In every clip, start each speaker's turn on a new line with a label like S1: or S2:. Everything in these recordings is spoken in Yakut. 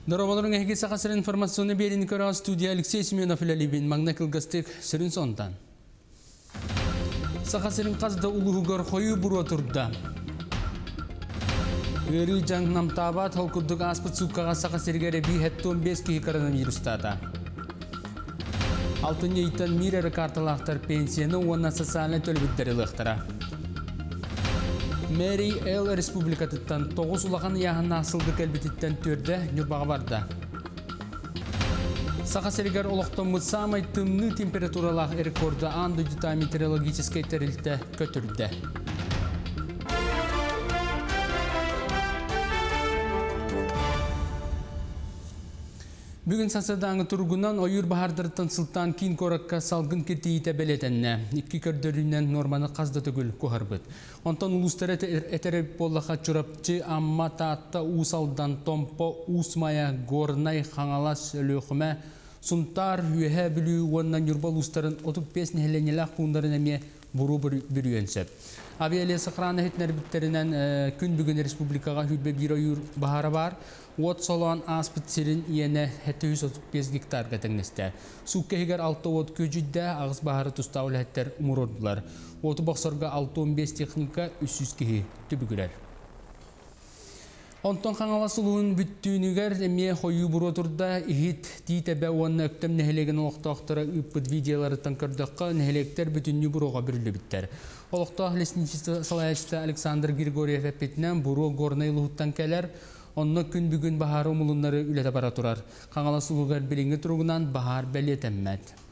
S1: Дорооболоруҥ, эһиги Саха сирин информационнай биэриини көрөҕүт, студия Алексей Семенов үлэлиибин, маҥнай кылгастык сүрүн сонунтан. Саха сирин хас да улууһугар хойуу буруо турда. Ыарыы дьаҥ намтаабат, ол курдук ааспыт сууккаҕа Саха сиригэр эбии 75 киһи коронавирустаата. Алтынньы ыйтан мир эрэ карталаахтар пенсияны уонна социальнай төлөбүрдэри ылыахтара. Мэри Эл республикатыттан 9 улахан ыйааһыннаах сылгы кэлбититтэн төрдө Ньурбаҕа барда. Саха сиригэр олохтоммут саамай тымныы температуралаах рекорду аан дойдутааҕы метеорологическай тэрилтэ көтүрдэ. Бүгүн сарсыардааҥы туругунан ойуур баһаардарыттан сылтаан киин куоракка салгын киртийиитэ бэлиэтэннэ. Икки көрдөрүүнэн нуорманы хас да төгүл куһарбыт. Онтон улуустары этэр буоллаха Чурапчы, Амма, Таатта, Уус Алдан, Томпо, Уус Майа, Горнай, Хаҥалас, Өлүөхүмэ, Сунтаар, Үөһээ Бүлүү уонна Ньурба улуустарын 35 нэһилиэнньэлээх пууннарын эмиэ буруу бүрүйүөн сөп. Авиалесохрана иһитиннэрбиттэринэн күн бүгүн республикаҕа 21 ойуур баһаара баар. Уот солоон ааспыт сирин иэнэ 735 гектарга тэҥнэстэ. Суукка иһигэр 6 уот күөдьүйдэ, 8 баһаары тустаах үлэһиттэр умуруордулар. Уоту бохсорго 65 техника, 300 киһи түбүгүрэр. Онтон Хаҥалас улууһун бүттүүнүгэр эмиэ хойуу буруо турда. Иһит, Тиит Эбэ уонна Өктөм нэһилиэгин олохтоохторо ыыппыт видеоларыттан көрдөххө, нэһилиэктэр бүтүннүү буруоҕа бүрүллүбүттэр. Олохтоох лесничество салайааччыта Александр Григорьев эппитинэн, буруо Горнай улууһуттан кэлэр. Онно күн бүгүн баһаары умулуннары үлэтэ бара турар. Хаҥалас улууһугар билиҥҥи туругунан баһаар бэлиэтэммэт.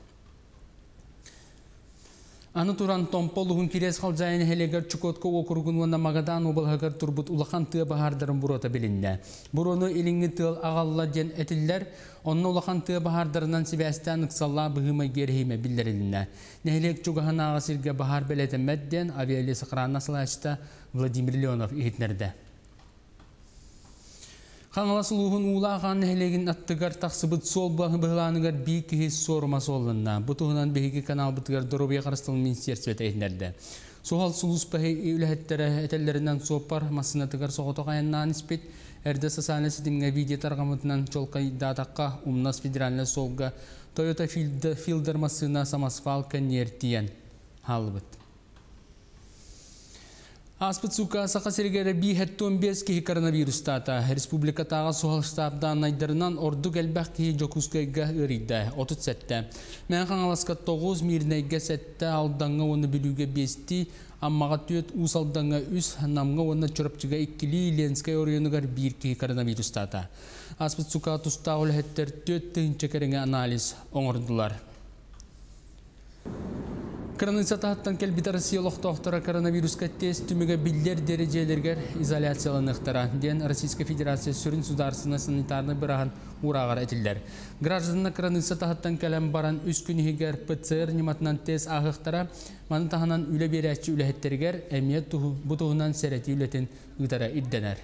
S1: Аны туран Томпо улууһун Кириэс Халдьаайы нэһилиэгэр Чукотка уокуругун уонна Магадан уобалаһыгар турбут улахан тыа баһаардарын буруота билиннэ. Буруону илиҥҥи тыал аҕалла диэн этиллэр. Онно улахан тыа баһаардарынан сибээстээн ыксаллаах быһыы-майгы эрэһиимэ биллэрилиннэ. Нэһилиэк чугаһынааҕы сиргэ баһаар бэлиэтэммэт диэн авиалесохрана салайааччыта Владимир Леонов иһитиннэрдэ. Хаҥалас улууһун Уулаах Аан нэһилиэгин аттыгар тахсыбыт суол быһылааныгар биир киһи суорума суолланна. Бу туһунан биһиги каналбытыгар доруобуйа харыстабылын министиэристибэтэ иһитиннэрдэ. Суһал сулууспа үлэһиттэрэ этэллэринэн суоппар массыынатыгар соҕотох айаннаан испит. Эрдэ социальнай ситимҥэ видео тарҕаммытынан чуолкайдаатахха, Умнас федеральнай суолга Toyota Fielder массыына самосвал кэнниэр тиийэн хаалбыт. Ааспыт суукка Саха сиригэр 1,5 киһи коронавирустаата. Республикатааҕы суһал штаб дааннайдарынан ордук элбэх киһи Дьокуускайга ыарыйда, 37. Мэҥэ Хаҥаласка 9, Миирнэйгэ 7, Алдаҥҥа уонна Бүлүүгэ 5, Аммаҕа 4, Уус Алдаҥҥа 3, Намҥа уонна Чурапчыга 2, Ленскэй оройуонугар 1 киһи коронавирустаата. Ааспыт суукка тустаах үлэһиттэр 4 тыһыынча кэриҥэ анализ оҥордулар. Кыраныысса таһыттан кэлбит Россия олохтоохторо коронавируска тест түмүгэ биллэр диэри дьиэлэригэр изоляцияланыахтара, диэн Российскай Федерация сүрүн судаарыстыбаннай санитарнай бырааһын уурааҕар этиллэр. Гражданнар кыраныысса таһыттан кэлэн баран үс күн иһигэр ПЦР ньыматынан тест ааһыахтара. Маны таһынан үлэ биэрээччи үлэһиттэригэр эмиэ бу туһунан сэрэтии үлэтин ыытара ирдэнэр.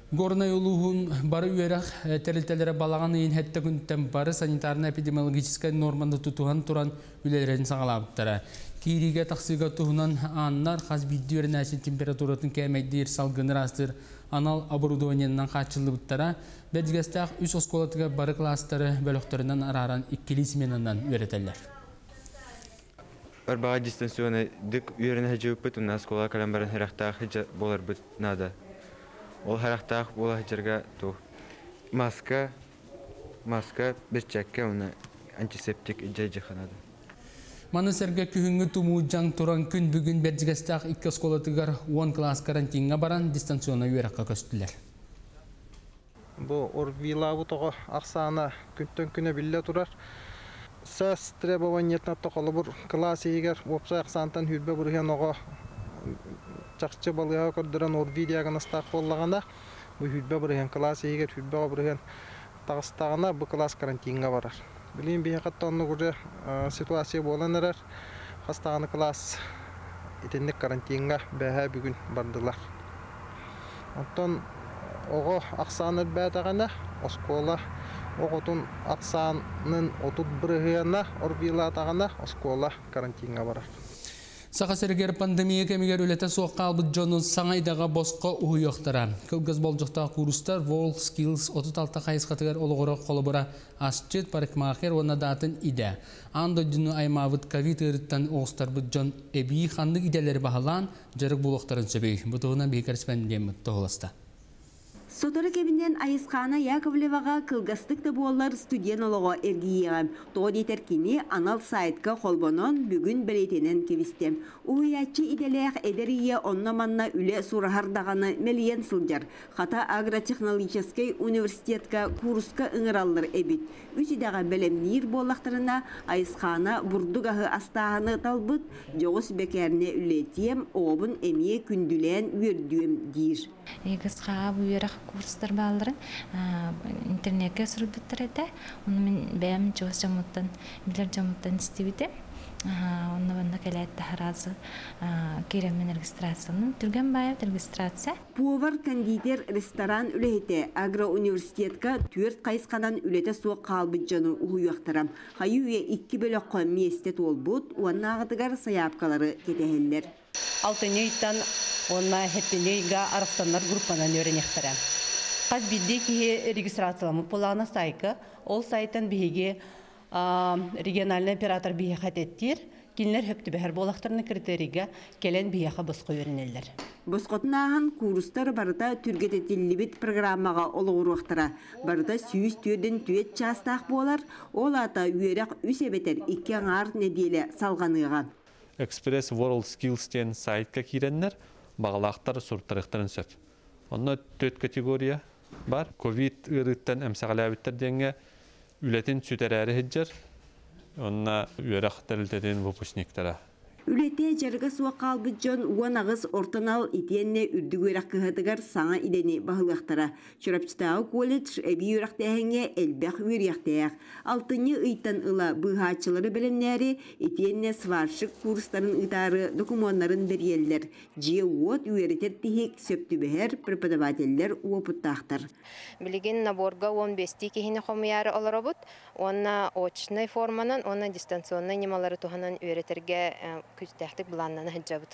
S1: Горнай улууһун бары үөрэх тэрилтэлэрэ балаҕан ыйын сэттэ күнтэн бары санитарно-эпидемиологическай нуорманы тутуһан туран үлэлэрин саҕалаабыттара. Киириигэ тахсыыга туһунан ааннар хас биирдии үөрэнээччи температуратын кээмэйдиир, салгыны ыраастыыр анал оборудованиенан хааччыллыбыттара. Бэрдьигэстээх үс оскуолатыгар бары кылаастары бөлөхтөрүнэн арааран иккилии сменанан үөрэтэллэр.
S2: Ырбаҕа дистанционнайдык үөрэнэ сылдьыбыппыт уонна оскуолаҕа кэлэн баран харахтаах буоларбыт наада. Ол харахтаах буола сылдьарга туох маска, маска, бэрчээккэ уонна антисептик илдьэ наада.
S1: Маны сэргэ күһүҥҥү тумуу дьаҥ туран күн бүгүн Бэрдьигэстээх икки оскуолатыгар 10 кылаас карантиҥҥа баран дистанционнай үөрэххэ көстүлэр.
S3: Бу ОРВИ-лаабыт оҕо ахсаана күнтэн күнэ биллэ турар. СЭС требованиетына холобур кылаас иһигэр уопсай ахсаантан 20% оҕо чахчы балыыһаҕа көрдөрөн ОРВИ диагнозтаах буоллаҕына, бу 20% кылаас иһигэр 20% таҕыстаҕына, бу кылаас карантиҥҥа барар. Билигин биһиэхэ оннук уже ситуация буолан эрэр. Хас даҕаны кылаас итинник карантиҥҥа бэһээ бүгүн бардылар. Оттон оҕо ахсаана элбээтэҕинэ, оскуола оҕотун ахсаанын 30 бырыһыана ОРВИ-лаатаҕына, оскуола карантиҥҥа барар.
S1: Саха сиригэр пандемия кэмигэр үлэтэ суох хаалбыт дьону саҥа идэҕэ босхо уһуйуохтара. Кылгас болдьохтоох куурустар World Skills 36 хайысхатыгар олоҕурар, холобура, асчыт, парикмахер уонна да атын идэ. Аан дойдуну аймаабыт ковид ыарыыттан оҕустарбыт дьон эбии ханнык идэлэри баһылаан дьарык булуохтарын сөбүй? Бу туһунан биһиги корреспондеммыт туоһуласта.
S4: Сотору кэминэн Айысхаана Яковлеваҕа кылгастык да буоллар студент олоҕо эргийиэҕэ. Тоҕо диэтэр кини анал сайтка холбонон бүгүн бэлиэтэнэн кэбистэ. Уһуйааччы идэлээх эдэр ийэ онно-манна үлэ сураһар даҕаны мэлийэн сылдьар. Хата агротехнологическай университетка кууруска ыҥыраллар эбит. Үс идэҕэ бэлэмниир буоллахтарына, Айысхаана бурдук аһы астааһыны талбыт, дьоҕус бэкээринэ үлэлэтиэм, оҕобун эмиэ күндүлээн үөрдүөм диир.
S5: ЕГСХА үөрэх курстар баалларын интернетке суруйбуттар этэ. Ону мин бэйэм чугас дьоммуттан, билэр дьоммуттан истибитим. Онно манна кэлээт сразу киирэммин регистрацияны. Түргэн баайабыт регистрация.
S4: Повар, кондитер, ресторан үлэһитэ агроуниверситетка түөрт хайысханан үлэтэ суох хаалбыт дьону уһуйуохтара. Хайыы-үйэ икки бөлөххө миэстэ туолбут, уоннааҕытыгар сайаапкалары кэтэһэллэр.
S6: Алтынньы ыйтан уонна сэттинньи ыйга арахсаннар группанан үөрэниэхтэрэ. Хас биирдии киһи регистрацияламмыт буоллаҕына сайтка, ол сайтан биһиги региональный оператор биһиэхэ этэттиир, кинилэр сөп түбэһэр буоллахтарына критерийгэ кэлэн биһиэхэ босхо үөрэнэллэр.
S4: Босхотун ааһан куурустар барыта түргэтэтиллибит программаҕа олоҕуруохтара. Барыта 144 чаастаах буолар, ол аата үөрэх үс эбэтэр икки аҥаар нэдиэлэ салҕаныаҕа.
S7: Express World Skills диэн сайтка киирэннэр, баҕалаахтар суруттарыахтарын сөп. Онно төрт категория бар. Ковид ыарыыттан эмсэҕэлээбиттэр диэҥҥэ үлэтин сүтэрээри сылдьар, онно үөрэх тэрилтэтин выпускниктара.
S4: Үлэтэ, дьарыга суох хаалбыт дьон 18 орто анал итиэннэ үрдүк үөрэх кыһатыгар саҥа идэни баһылыахтара. Чурапчытааҕы колледж эбии үөрэхтээһиҥҥэ элбэх үөрүйэхтээх. Алтынньы ыйтан ыла быыһааччылары бэлэмнээри итиэннэ сварщик курстарын ыытаары докумуоннарын бэрийэллэр. Дьиэ-уот, үөрэтэр тиһик сөп түбэһэр, преподавателлэр уопуттаахтар.
S8: Билигин наборга 15 киһини хомуйаары олоробут. Уонна очнай форманан уонна дистанционнай ньымалары туһанан үөрэтэргэ күүстээхтик былааннана сылдьабыт.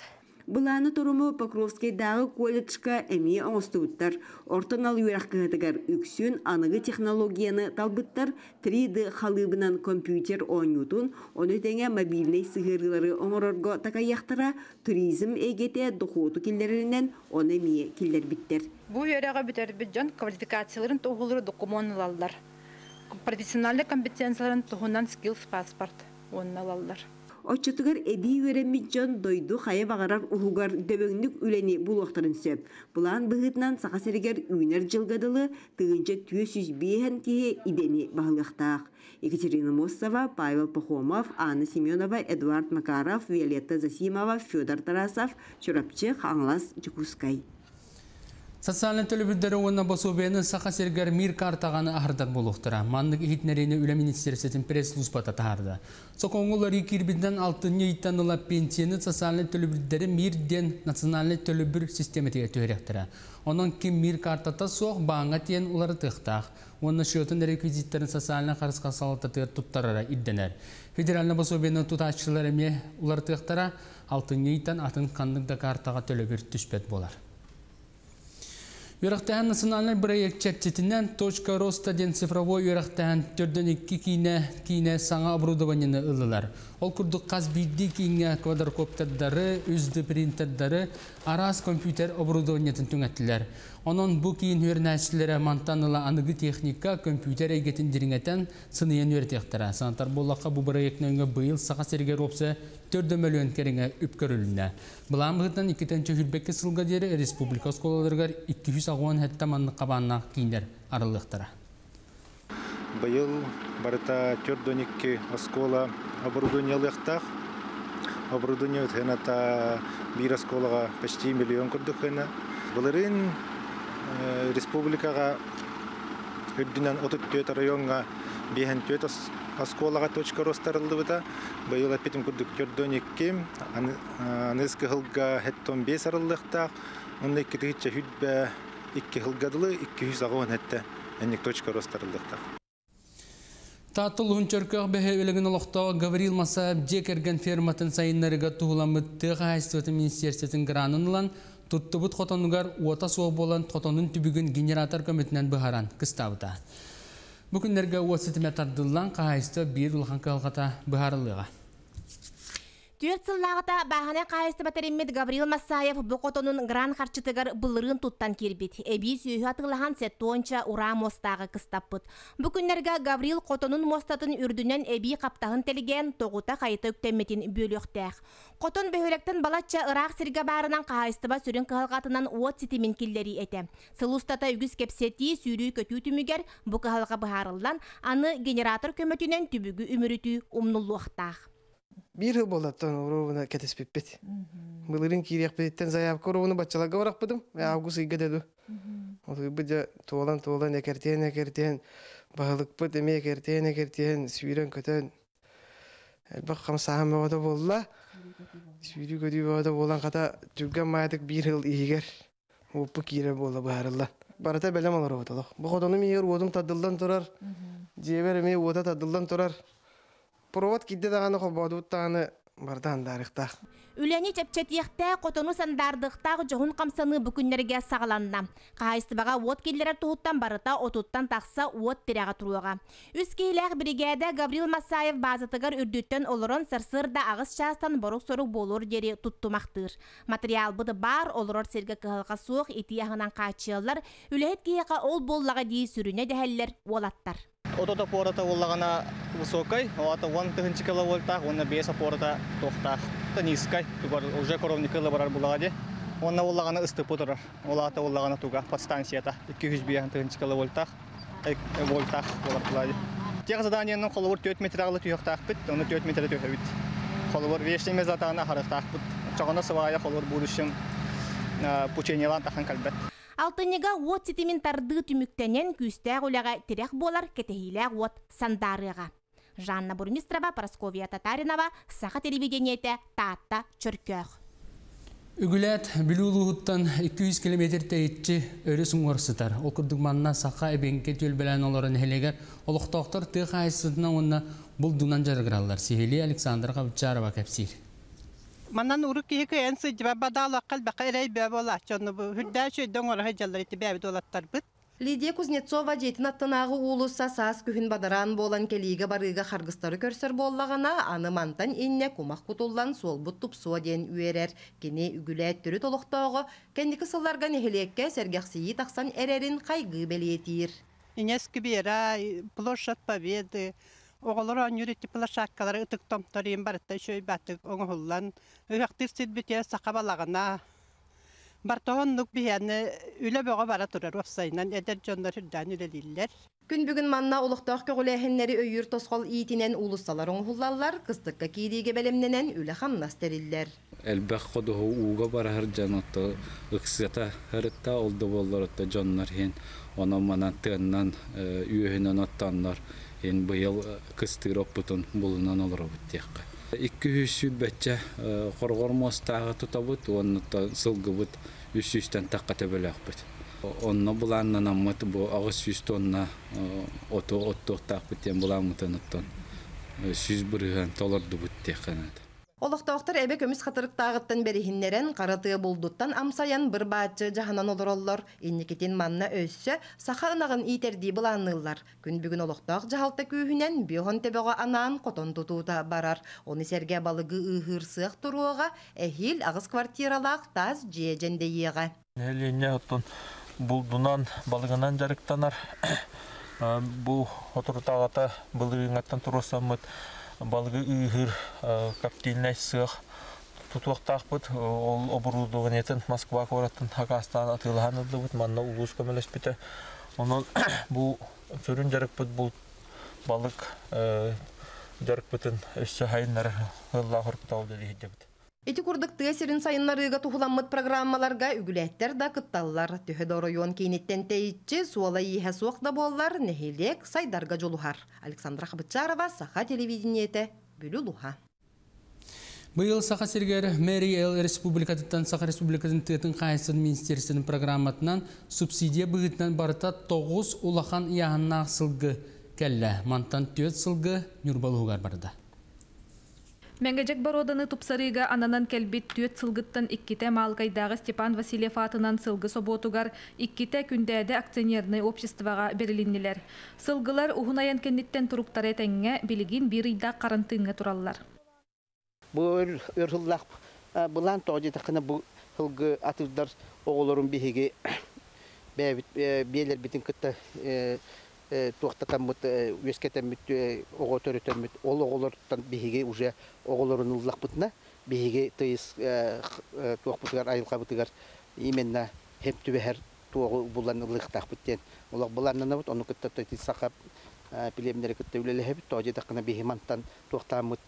S4: Былааны торуму Покровскайдааҕы колледжка эмиэ оҥостубуттар. Орто анал үөрэх кыһатыгар үксүн аныгы технологияны талбыттар, 3D халыыбынан компьютер оонньуутун, ону тэҥэ мобильнай сыһыарыылары оҥорорго такайыахтара, туризм эйгэтэ дохуоту киллэрэринэн ону эмиэ киллэрбиттэр.
S9: Бу үөрэҕи бүтэрбит дьон квалификацияларын туоһулуур докумуон ылаллар. Профессиональнай компетенцияларын туһунан skills паспорт уонна ылаллар.
S4: Оччотугар эбии үөрэммит дьон дойду хайа баҕарар уһугар дөбөҥнүк үлэни булуохтарын сөп. Былаан быһыытынан Саха сиригэр үүнэр дьылга дылы 1405 киһи идэни баһылыахтаах. Екатерина Мостова, Павел Пахомов, Анна Семенова, Эдуард Макаров, Виолетта Засимова, Федор Тарасов, Чурапчы, Хаҥалас, Дьокуускай.
S1: Социальнай төлөбүрдэри уонна босуобуйаны Саха сиригэр Мир картаҕа аһардар буолуохтара. Маннык иһитиннэриини үлэ министиэристибэтин пресс-службата таһаарда. Сокуоҥҥа уларыйыы киирбитинэн алтынньы ыйтан ыла пенсияны, социальнай төлөбүрдэри Мир диэн национальнай төлөбүр систиэмэтигэр түһэриэхтэрэ. Онон ким Мир картата суох бааҥҥа тиийэн уларытыахтаах. Уонна счетун реквизиттэрин социальнай харысхал салалтатыгар туттарара ирдэнэр. Федеральнай босуобуйаны тутааччылар эмиэ уларытыахтара. Алтынньы ыйтан атын ханнык да картаҕа төлөбүр түспэт буолар. Үөрэхтээһин национальнай бырайыак чэрчитинэн «Точка роста» диэн цифровой үөрэхтээһин 42 киинэ саҥа оборудованиены ыллылар. Ол курдук хас биирдии кииҥҥэ квадрокоптердары, 3D принтердары, араас компьютер оборудованиетын түҥэттилэр. Онон бу киин үөрэнээччилэрэ мантан ыла аныгы техника, компьютер эйгэтин дириҥэтэн, сыныйан үөрэтиэхтэрэ. Санатар буоллахха, бу бырайыак нөҥүө быйыл Саха сиригэр уопсайа 4 мөлүйүөн кэриҥэ үп көрүлүннэ. Былаан быһыытынан 2022 сылга диэри республика оскуолаларыгар 287 маннык хабааннаах кииннэр арыллыахтара.
S10: Быйыл барыта 42 оскуола оборудование ылыахтаах. Оборудование сыаната биир оскуолаҕа почти миллион курдук сыана. Былырыын республикаҕа үрдүнэн 34 райоҥҥа 54 оскуолаҕа точка роста арыллыбыта. Быйыл эппитим курдук 42, аныгыскы сылга 75 арыллыахтаах. Онно 2022 сылга дылы 287 энник точка роста арыллыахтаах.
S1: Таатта улууһун Чөркөөх бөһүөлэгин олохтооҕо Гаврил Масаев дьиэ кэргэн ферматын сайыннарыыга туһуламмыт тыа хаһаайыстыбатын министиэристибэтин гранын ылан, туттубут хотонугар уота суох буолан хотонун түбүгүн генератор көмөтүнэн быһааран кыстаабыта. Бу күннэргэ уот ситимэ тардыллан, хаһаайыстыба биир улахан кыһалҕата быһаарыллыаҕа.
S11: Түөрт сыллааҕыта бааһынай хаһаайыстыба тэриммит Гаврил Массаев бу хотонун гран харчытыгар былырыын туттан киирбит. Эбии сүөһү атыылаһан сеттуонча ураа муостааҕы кыстаппыт. Бу күннэргэ Гаврил хотонун муостатын үрдүнэн эбии хаптаһын тэлгээн тоҕута-хайыта үктэммитин бүөлүөхтээх. Хотон бөһүөлэктэн балачча ыраах сиргэ баарынан хаһаайыстыба сүрүн кыһалҕатынан уот ситимин киллэрии этэ. Сыл устата үгүс кэпсэтии, сүүрүү-көтүү түмүгэр бу кыһалҕа быһаарыллан, аны генератор көмөтүнэн түбүгү үмүрүтүү умнуллуохтаах.
S12: Биир сыл буоллаттан уруубуна кэтэспиппит. Былырыын киириэхпититтэн заявка уруубуну баччаларга барахпытым. Август ыйга деду. Отуйбут дьэ туолан-туолан экэртиэн-экэртиэн баһылыкпыт эмиэ экэртиэн-экэртиэн сүүрэн-көтөн элбэх хамсааһын бөҕөтө буолла. Сүүрүү-көтүү бөҕөтө буолан хата түргэн маайдык биир сыл иһигэр уоппу киирэр буола быһаарыллан. Барыта бэлэм олоробут олох. Бу хотонум иһигэр уотум тардыллан турар. Дьиэбэр эмиэ уота тардыллан турар. Провод киирдэ даҕаны холбоотубут даҕаны барыта андаарыахтаах.
S11: Үлэни чэпчэтиэхтээх, хотону сандаардыахтаах дьоһун хамсаныы бу күннэргэ саҕаланна. Хаһаайыстыбаҕа уот киллэрэр туһуттан барыта отуттан тахса уот тирэҕэ туруоҕа. Үс киһилээх биригээдэ Гаврил Массаев баазатыгар үрдүттэн олорон сарсыарда аҕыс чаастан борук-сорук буолуор диэри туттумахтыыр. Матырыйаалбыт баар, олорор сиргэ кыһалҕа суох, итии аһынан хааччыйаллар, үлэһит киһиэхэ ол буоллаҕа дии сүрүнэ дэһэллэр уолаттар.
S13: Отут опората буоллаҕына высокай, ол уон тыһыынча киловольтаах уонна биэс опората туохтаах. Низкай, тугар уже коровника барар булаҕа дии. Уонна буоллаҕына ыстыпы турар. Ол аата буоллаҕына туга подстанцията 205 тыһыынча киловольтаах вольтаах буолар була дии. Тех заданиенын холобур 4 метр аҕылы түһүөхтаахпыт, ону 4 метр түһэбит. Холобур вешнеме затаана харахтаахпыт. Чоҕоно сыбаайа холобур будущем пучениялаан тахан кэлбэт.
S11: Алтынньыга уот ситимин тардыы түмүктэнэн, күүстээх үлэҕэ тирэх буолар кэтэһиилээх уот сандаарыаҕа. Жанна Бурмистрова, Парасковья Татаринова, Саха телевидениетэ, Таатта, Чөркөөх.
S1: Үгүлээт Бүлүү улууһуттан 200 километр тэйиччи өрүс уҥуор сытар. Ол курдук манна саха эбэҥки түөлбэлээн олорор нэһилиэгэр олохтоохтор тыа хаһаайыстыбатынан уонна булдунан дьарыгыраллар. Сиһилии Александра Хабчарова кэпсиир.
S14: Манан урук киһи кыайан сылдьыбат бадаалахха элбэххэ эрэй бөҕө буолааччы онно бу үрдээх үчүгэйдик оҥоро сылдьаллар ити бэйэбит уолаттарбыт.
S15: Лидия Кузнецова дьиэтин аттынааҕы уулусса саас күһүн бадараан буолан кэлиигэ-барыыга харгыстары көрсөр буоллаҕына, аны мантан инньэ кумах кутуллан суолбут тупсуо диэн үөрэр. Кини Үгүлээт төрүт олохтооҕо, кэнники сылларга нэһилиэккэ сэргэхсийии тахсан эрэрин хайгыы бэлиэтиир.
S14: Инес сквера, площадь Победы, оҕолор оонньуур ити площадкалары ытык томтор иин барыта үчүгэй баатык оҥоһуллан, ыһыахтыыр сирбитигэр саха балаҕана, Барта оннук биһиэнэ үлэ бөҕө бара турар уопсайынан эдэр дьоннор үрдээн үлэлииллэр.
S15: Күн бүгүн манна олохтоох көҕүлээһиннэри өйүүр тосхол иитинэн уулуссалар оҥоһуллаллар, кыстыкка киириигэ бэлэмнэнэн үлэ-хамнас тэриллэр.
S16: Элбэх ходуһу ууга бараһар дьон отто ыксата ырытта, ол да буоллар отто дьоннор иһин онон-манан тыаннан үөһүнэн оттооннор иһин быйыл кыстыыр оппутун булунан олоробут диэххэ. 200 сүүрбэччэ хорҕор муостааҕы тутабыт уонна сылгыбыт 300-тэн тахха төбөлөөхпүт. Онно былааннанаммыт бу 800 тонна оту оттуохтаахпыт диэн былааммытын оттон 100% толордубут диэххэ наада.
S15: Олохтоохтор эбэ көмүс хатырыктааҕыттан бэриһиннэрэн, хара тыа булдуттан амсайан быр-бааччы дьаһанан олороллор. Инникитин манна өссө саха ынаҕын иитэрдии былаанныыллар. Күн бүгүн олохтоох дьаһалта күүһүнэн биоһон төбөҕө анаан хотон тутуута барар. Ону сэргэ балыгы ыыһыыр сыах туруоҕа, эһиил аҕыс квартиралаах таас дьиэ дьэндэйиэҕэ.
S17: Нэһилиэнньэ оттон булдунан, балыгынан дьарыктанар. Бу соторутааҕыта былырыыҥҥаттан туруорсаммыт балыгы ыыһыыр коптильнай сыах тутуохтаахпыт. Ол оборудованиетын Москва куораттан хакаастаан атыылаһан ыллыбыт. Манна улуус көмөлөспүтэ. Онон бу сүрүн дьарыкпыт булт балык дьарыкпытын өссө сайыннарар сыаллаах оркутаал диэбит.
S15: Ити курдук тыа сирин сайыннарыыга туһуламмыт программаларга үгүлээттэр да кытталлар. Төһө да оройуон кииниттэн тэйиччи, суола-ииһэ суох да буоллар, нэһилиэк сайдарга дьулуһар. Александра Хабычарова, Саха телевидениетэ, Бүлүү улууһа.
S1: Быйыл Саха сиригэр Марий Эл Республикатыттан Саха Республикатын тыатын хаһаайыстыбатын министерствотын программатынан субсидия быһыытынан барыта тоҕус улахан ыйааһыннаах сылгы кэллэ. Мантан 4 сылгы Ньурба улууһугар барда.
S18: Мэҥэдьэк боруоданы тупсарыыга ананан кэлбит түөрт сылгыттан иккитэ Маалыкайдааҕы Степан Васильев аатынан сылгы собуотугар, иккитэ Күндээдэ акционернай обществоҕа бэрилиннилэр. Сылгылар уһун айан кэнниттэн туруктара этэҥҥэ, билигин биир ыйдаах харантыыҥҥа тураллар.
S19: Бу өр сыллаах былаан тоҕо диэтэххинэ бу сылгы атыырдар оҕолорун биһиги бэйэбит биэлэрбитин кытта туохтатаммыт үөскэтэммит оҕо төрөтөммүт ол оҕолортон биһиги уже оҕолорун ыллахпытына биһиги тыйыс туохпутугар айылҕабытыгар именно хеп түбэһэр туоҕу булан ылыахтаахпыт диэн олох былааннанабыт ону кытта саха племнери кытта үлэлэһэбит тоҕо диэтэххинэ биһи мантан туохтааммыт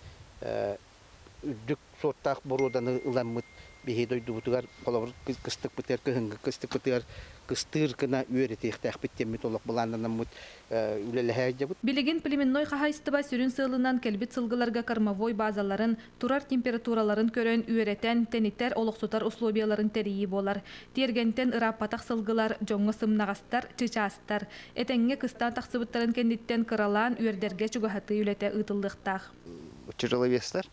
S19: үрдүк суортаах боруоданы ыламмыт биһи дойдубутугар холобур кыстыкпытыгар кыһыҥҥы кыстыкпытыгар кыстыыр гына үөрэтиэхтээхпит диэммит олох былааннанаммыт үлэлэһэ сылдьабыт.
S18: Билигин племенной хаһаайыстыба сүрүн сыалынан кэлбит сылгыларга кормовой базаларын, турар температураларын көрөн, үөрэтэн, тэнитэр, олохсутар условияларын тэрийии буолар. Тиэргэнтэн ырааппатах сылгылар дьоҥҥо сымнаҕастар, чычаастар. Этэҥҥэ кыстаан тахсыбыттарын кэнниттэн кыралаан үөрдэргэ чугаһатыы үлэтэ ыытыллыахтаах.
S20: Тяжеловестар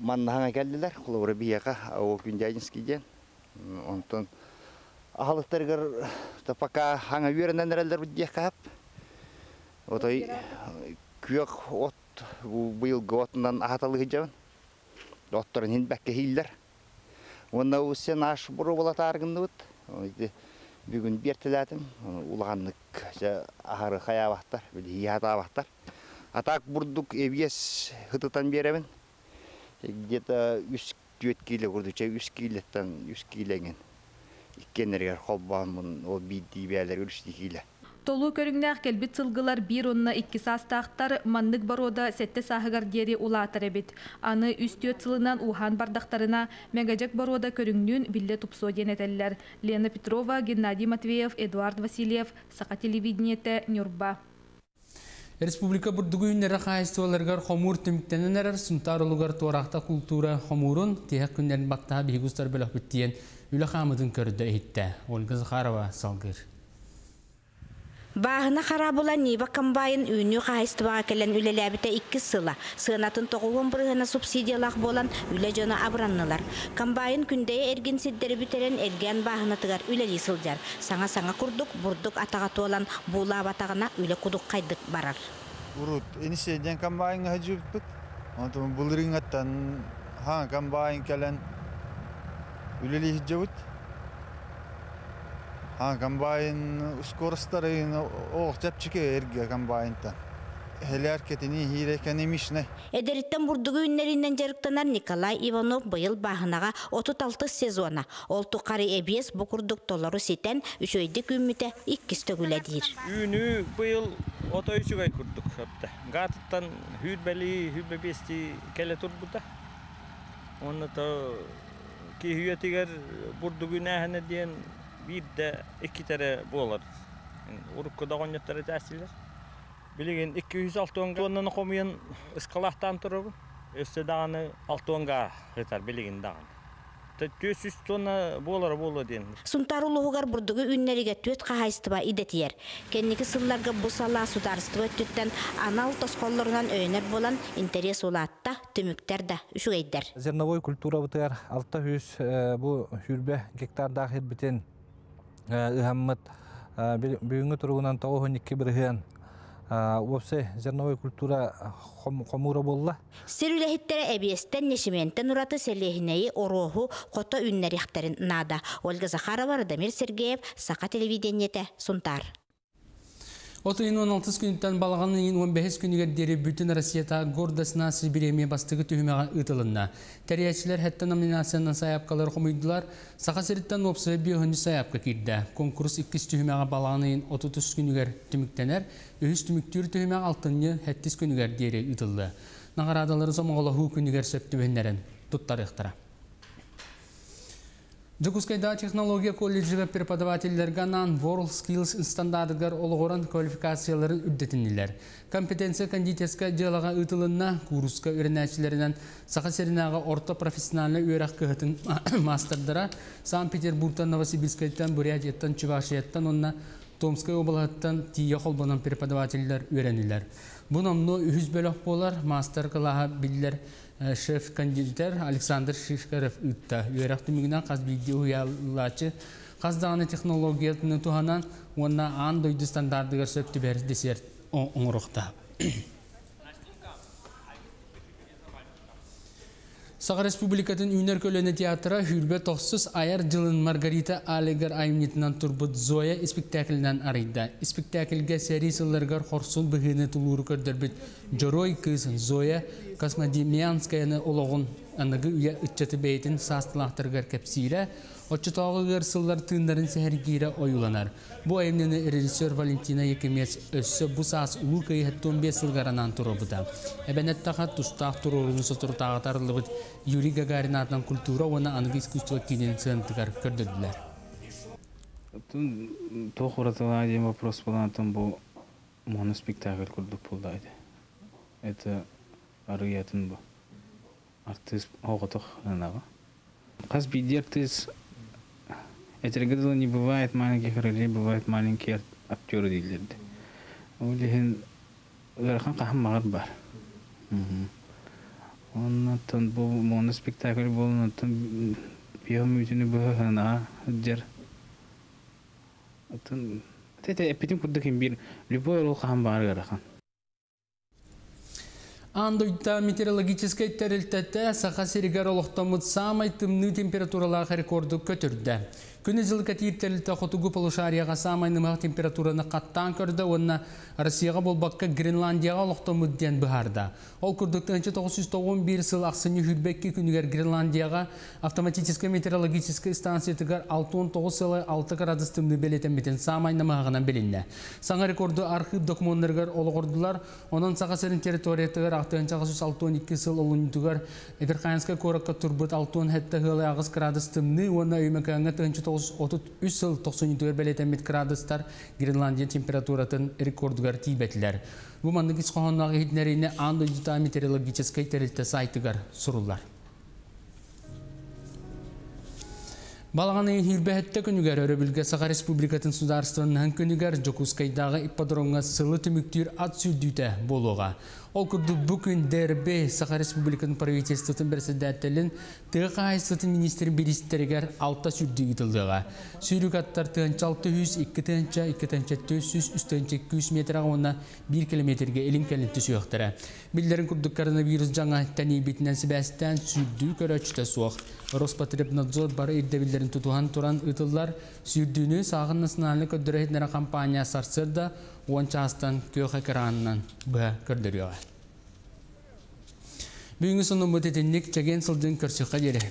S20: манна кэллилэр, холобура биһиэхэ АО Күндядинский диэн. Онтон аһылыктарыгар пока хаҥа үөрэнэн эрэллэр диэххэ сөп. Отой күөх от быйылгы отунан аһаталыы сылдьабын. Отторун иһин бэккэ иһиллэр. Уонна усе наш боруобалатаар гынныбыт. Бүгүн биэртэлээтим. Улаханнык аһары хайаабахтар, билиһии хатаабахтар. А так бурдук эбиэс хытытан биэрэбин. Где-то 3-4 киилэ курдук, 3 киилеттен 3 киилеңин. Иккиэннэригэр холбооммун ол биирдии бээлэр 3 киилэ.
S18: Толуу көрүҥнээх кэлбит сылгылар биир уонна икки саастаахтар, маннык боруода сэттэ сааһыгар диэри улаатар эбит. Аны үс-түөрт сылынан ууһаан бардахтарына, Мэҥэдьэк боруода көрүҥнүүн биллэ тупсуо диэн этэллэр. Лена Петрова, Геннадий Матвеев, Эдуард Васильев, Саха телевидениетэ, Ньурба.
S1: Республика бурдугу үүннэрэр хаһаайыстыбаларыгар хомуур түмүктэнэн эрэр. Сунтаар улууһугар туораахта култуура хомуурун тиһэх күннэрин баттаһа биһиги устар бөлөхпүт тиийэн үлэ хаамыытын көрдө-иһиттэ. Ольга Захарова салгыыр.
S21: Бааһына хараабыла Нива комбайн үүнүү хаһаайыстыбаҕа кэлэн үлэлээбитэ иккис сыла. Сыанатын 90 бырыһыана субсидиялаах буолан үлэ дьоно абыраннылар. Комбайн Күндэйэ эргин сирдэри бүтэрэн Элгээн бааһынатыгар үлэлии сылдьар. Саҥа-саҥа курдук бурдук атаҕа туолан буулаабатаҕына үлэ кудуххайдык барар.
S22: Урут Енисей диэн комбайнҥа сылдьыбыппыт. Онтон былырыыҥҥаттан хаҥа комбайн кэлэн үлэлии сылдьабыт. Ха комбайн скоростарын олох чэпчэки эргэ комбайнтан. Хелер кетини хире экономичный.
S21: Эдэриттэн бурдугу үүннэриинэн дьарыктанар Николай Иванов быйыл бааһынаҕа 36 сезона. Ол тухары эбиэс бу курдук толору ситэн, үчүгэйдик үүммүтэ иккис төгүлэ диир.
S23: Үүнүү быйыл отой үчүгэй курдук сөптө. Гаатыттан хүүрбэли, хүүрбэ кэлэ турбута. Онно то киһи үйэтигэр бурдук үүнээһинэ диэн биирдэ иккитэ эрэ буолар. Урукку доҕонньоттор этээччилэр. Билигин 206 тоннаны хомуйан ыскалаахтаан турабын. Өссө даҕаны алтуонга сытар билигин даҕаны. 400 тонна буолара буолуо диэн.
S21: Сунтаар улууһугар бурдугу үүннэриигэ түөрт хаһаайыстыба идэтийэр. Кэнники сылларга бу салаа судаарыстыба өттүттэн анал тосхоллорунан өйөнөр буолан интэриэс улаатта, түмүктэр да үчүгэйдэр.
S24: Зерновой культурабытыгар 600 бу 20 гектардаах сирбитин ыһаммыт бүгүҥҥү туругунан 92 бырыһыан уопсай зерновой культура хомуура буолла.
S21: Сир үлэһиттэрэ эбиэстэн, ньэчимиэнтэн ураты сэлиэһинэйи, оруоһу хото үүннэриэхтэрин наада. Ольга Захарова, Радомир Сергеев, Саха телевидениетэ, Сунтаар.
S1: От ыйын 16 күнүттэн балаҕан ыйын 15 күнүгэр диэри бүтүн Россиятааҕы Гордость нации бириэмийэ бастакы түһүмэҕэ ыытылынна. Тэрийээччилэр сэттэ номинациянан сайаапкалары хомуйдулар. Саха сириттэн уопсайа 5 сайаапка киирдэ. Конкурс иккис түһүмэҕэ балаҕан ыйын 30 күнүгэр түмүктэнэр. Үһүс түмүктүүр түһүмэх алтынньы 7 күнүгэр диэри ыытыллыа. Наҕараадалары сомоҕолоһуу күнүгэр сөп түбэһиннэрэн туттарыахтара. Дьокуускайдааҕы технология колледжыгар преподавателлэргэ анаан World Skills стандартыгар олоҕуран квалификацияларын үрдэтиннилэр. Компетенция кондитерскай дьыалаҕа ыытылынна. Кууруска үөрэнээччилэринэн Саха сиринээҕи орто профессиональнай үөрэх кыһатын маастардара, Санкт-Петербургтан, Новосибирскайтан, Бурятияттан, Чувашияттан уонна Томскай уобалаһыттан тиийэ холбонон преподавателлэр үөрэннилэр. Бу номнуо үһүс бөлөх буолар, маастар-кылааһы биллэр шеф-кондитер Александр Шишкарев ыытта. Үөрэх түмүгүнэн хас биирдии уһуйааллааччы хас даҕаны технологиятыны туһанан уонна аан дойду стандардыгар сөп түбэһэр десерт оҥоруохтаах. Саха Республикатын үүнэр көлүөнэ театра Хүрбэ тохсус айар дьылын Маргарита Алигар айымньытынан турбут Зоя испиктээкилинэн арыйда. Испиктээкилгэ сэрии сылларыгар хорсун быһыыны тулууру көрдөрбүт дьоруой кыыс Зоя Космодемьянскаяны олоҕун аныгы үйэ ыччаты бэйэтин саастылаахтарыгар кэпсиирэ, оччотооҕу ыар сыллар тыыннарын сэһэргиирэ ойууланар. Бу айымньыны режиссер Валентина Якимец өссө бу саас Улуу Кыайыы 75 сылыгар анаан туруорбута. Эбэн эттэхэ, тустаах туруорууну соторутааҕыта арыллыбыт Юрий Гагарин аатынан культура уонна аныгы искусство киинин сыанатыгар көрдөрдүлэр.
S2: Туох уратылаах диэн вопрос буолан бу моноспектакль курдук буолла ити. Это арыйатын бу. Артыыс оҕотох ынаҕа. Хас биирдии артыыс этэргэ дылы не бывает маленьких ролей, бывает маленькие актеры дииллэрди. Ол иһин ыарахан хаһан баҕар бар. Оннуттан бу моноспектакль буолан оттон пьеһа мүтүнү быһа сылдьар. Оттон эппитим курдук биир любой роль хаһан баҕар ыарахан.
S1: Аан дойдута метеорологическай тэрилтэтэ Саха сиригэр олохтоммут саамай тымныы температуралаах рекорду көтүрдэ. Күнү-дьыл кэтиир тэрилтэ хотугу полушарияҕа саамай нымыһах температураны хаттаан көрдө уонна Россияҕа буолбакка Гренландияҕа олохтоммут диэн быһаарда. Ол курдук 1991 сыл ахсынньы 22 күнүгэр Гренландияҕа автоматическай метеорологическай станциятыгар 69,6 градус тымныы бэлиэтэммитин саамай намыһаҕынан билиннэ. Саҥа рекорду архыып докумуоннарыгар олоҕурдулар. Онон Саха сирин территориятыгар 6862 сыл олунньутугар Верхоянскай куоракка турбут 67 ыалы 8 градус тымныы уонна Өймөкөөҥҥө 1933 сыл тохсунньутугар бэлиэтэммит градустар Гренландия температуратын рекордугар тиийбэтилэр. Бу маннык ис хоһоонноох иһитиннэриини аан дойдутааҕы метеорологическай тэрилтэ сайтыгар суруллар. Балаҕан ыйын сүүрбэһэттэ күнүгэр өрөбүлгэ Саха Республикатын судаарыстыбаннаһын күнүгэр Дьокуускайдааҕы ипподромҥа сылы түмүктүүр ат сүүрдүүтэ буолуоҕа. Ол курдук бу күн ДРБ Саха Республикатын правительствотын бэрэссэдээтэлин тыа хаһаайыстыбатын министрин бириистэригэр алта сүүрдүү ыытыллыаҕа. Сүүрүк аттар тыһыынча 600, 2 тыһыынча, 2 тыһыынча 400, 3 тыһыынча 200 метраҕа уонна 1 километрга илин-кэлин түсүөхтэрэ. Биллэрин курдук коронавирус дьаҥа тэнийбитинэн сибээстээн сүүрдүү көрөөччүтэ суох. Роспотребнадзор бары ирдэбиллэрин тутуһан туран ыытыллар сүүрдүүнү Сааҕын национальнай көрдөрөр-иһитиннэрэр компания сарсыарда 10 чаастан күөх экранынан быһа көрдөрүөҕэ. Бүгүҥҥү сонуммут итинник чэгиэн сылдьын көрсүөххэ диэри.